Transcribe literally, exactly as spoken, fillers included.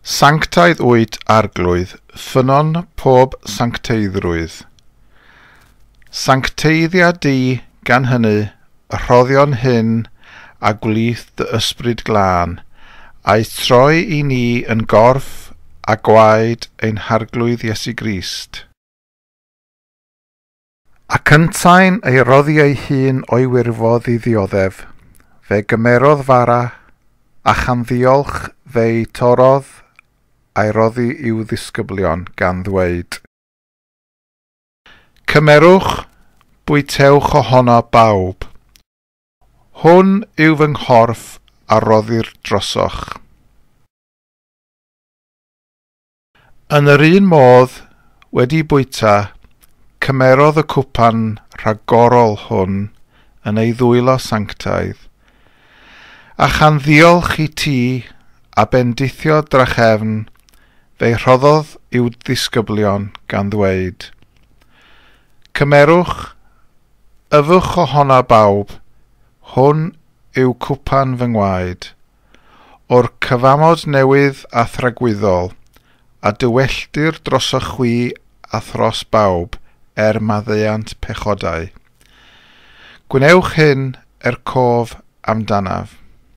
Sanctaidd wyt, Arglwydd, ffynnon pob sancteiddrwydd. Sancteiddia di, gan hynny, y rhoddion hyn a gwlith dy ysbryd glân, a'i troi i ni yn gorff a gwaed ein Harglwydd Iesu Grist. Ac yntau'n ei roddi ei hun o'i wirfodd i ddioddef, fe gymerodd fara, a chan ddiolch fe'i torrodd a'i roddi i'w ddisgyblion gan ddweud, Cymerwch, bwytewch ohono bawb. Hwn yw fy nghorff a roddir drosoch. Yn yr un modd, wedi bwyta, cymerodd y cwpan rhagorol hwn yn ei ddwylo sanctaidd, a chan ddiolch i ti a bendithio drachefn, fe'i rhoddodd i'w ddisgyblion gan ddweud, Cymerwch, yfwch ohono bawb, hwn yw cwpan fy ngwaed, o'r cyfamod newydd a thragwyddol, a dywelltir drosoch chwi a thros bawb er maddeuant pechodau. Gwnewch hyn er cof amdanaf.